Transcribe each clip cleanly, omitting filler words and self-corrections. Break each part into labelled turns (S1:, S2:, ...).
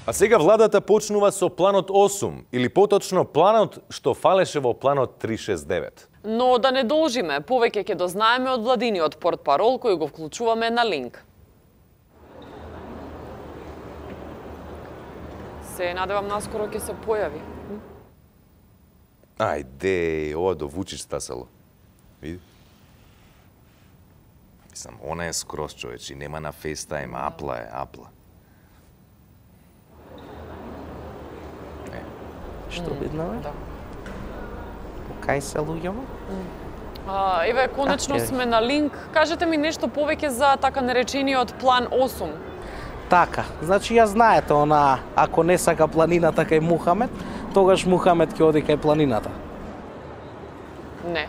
S1: А сега владата почнува со планот 8, или поточно планот што фалеше во планот 369.
S2: Но да не должиме, повеќе ќе дознаеме од владиниот портпарол кој го вклучуваме на линк. Се надевам наскоро ќе се појави.
S1: Ајде, ова до Вучич стасало. Види? Мислам, она е скроз човечи, нема на FaceTime, апла е, апла.
S3: Што виднаме?
S2: Да.
S3: Кај се луѓето?
S2: Еве, конечно сме на линк. Кажете ми нешто повеќе за така наречениот план 8.
S3: Така, значи ја знаете она, ако не сака планината кај Мухамед, тогаш Мухамед ќе оди кај планината.
S2: Не.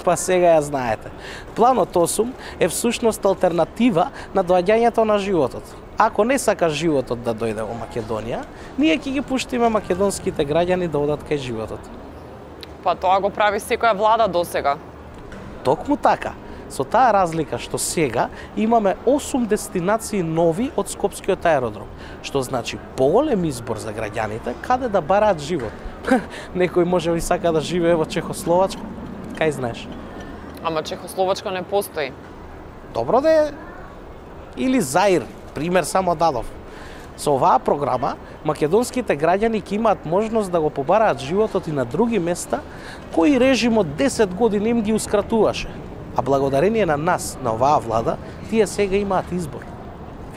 S3: Па сега ја знаете. Планот 8 е всушност алтернатива на доаѓањето на животот. Ако не сакаш животот да дојде во Македонија, ние ќе ги пуштиме македонските граѓани да одат кај животот.
S2: Па тоа го прави секоја влада досега.
S3: Токму така. Со таа разлика што сега имаме 8 дестинации нови од Скопскиот аеродром, што значи поголем избор за граѓаните каде да бараат живот. Некој може би сака да живее во Чехословачка, кај знаеш?
S2: Ама Чехословачка не постои.
S3: Добро да е. Или Заир, пример само дадов. Со оваа програма, македонските граѓани ќе имаат можност да го побараат животот и на други места, кои режимот 10 години им гиускратуваше. А благодарение на нас, на оваа влада, тие сега имаат избор.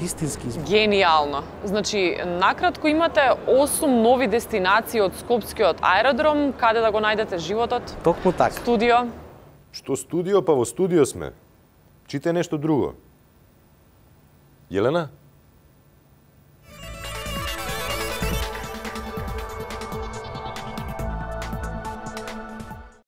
S3: Вистински избор.
S2: Гениално. Значи, накратко имате 8 нови дестинации од Скопскиот аеродром, каде да го најдете животот?
S3: Токму така.
S2: Студио?
S1: Што студио, па во студио сме. Чите нешто друго. Елена?